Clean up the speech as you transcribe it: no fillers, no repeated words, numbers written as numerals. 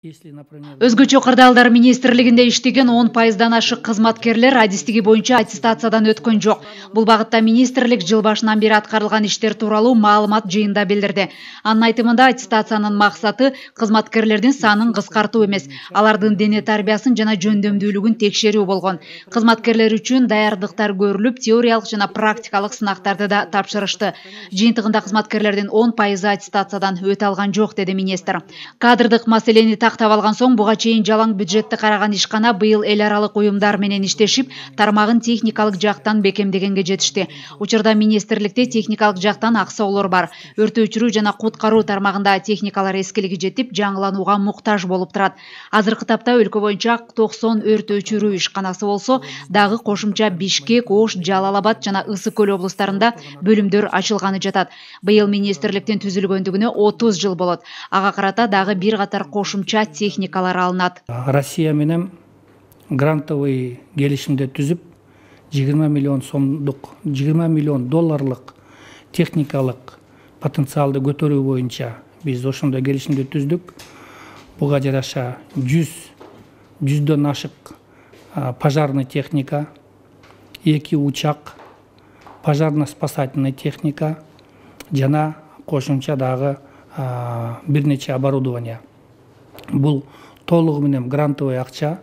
Өзгөчө кырдаалдар министрлигинде иштеген 10%дан ашык кызматкерлер адистиги боюнча аттестациядан өткөн жок. Бул багытта министрлик жыл башынан бери аткарылган иштер тууралуу маалымат жыйында билдирди. Анын айтымында аттестациянын максаты кызматкерлердин санын кыскартуу эмес, алардын дене тарбиясын жана жөндөмдүүлүгүн текшерүү болгон. Кызматкерлер үчүн даярдыктар көрүлүп, теориялык жана практикалык сынактарды да тапшырышты. Жыйынтыгында кызматкерлердин 10% аттестациядан өтө алган жок, деди министр. Кадрдык маселени тактап алган соң буга чейин жалаң бюджетти караган ишкана быйыл эл аралык уюмдар менен иштешип, тармагын техникалык жактан бекемдегенге жетишти. Учурда министрликте техникалык жактан аксоолор бар. Өрт өчүрүү жана куткаруу тармагында техникалар эскилиги жетип, жаңыланууга муктаж болуп турат. Азыркы тапта өлкө боюнча 90 өрт өчүрүү ишканасы болсо, дагы кошумча Бишкек, Ош, Жалал Абад жана Ысык көл облустарында бөлүмдөр ачылганы жатат. Быйыл министрликтин түзүлгөндүгүнө 30 жыл болот. Ага карата дагы бир катар кошумча техникалар алынат. Россия менен грантовый келишимди түзүп, 20 миллион сомдук, 20 миллион долларлык техникалык потенциалды көтөрүү боюнча биз ошондой келишимди түздүк. Буга жараша 100дөн ашык пожарный техника, 2 учак, пожарно-спасательный техника жана кошумча дагы бир нече оборудование. Бул толугу менен грантовый акча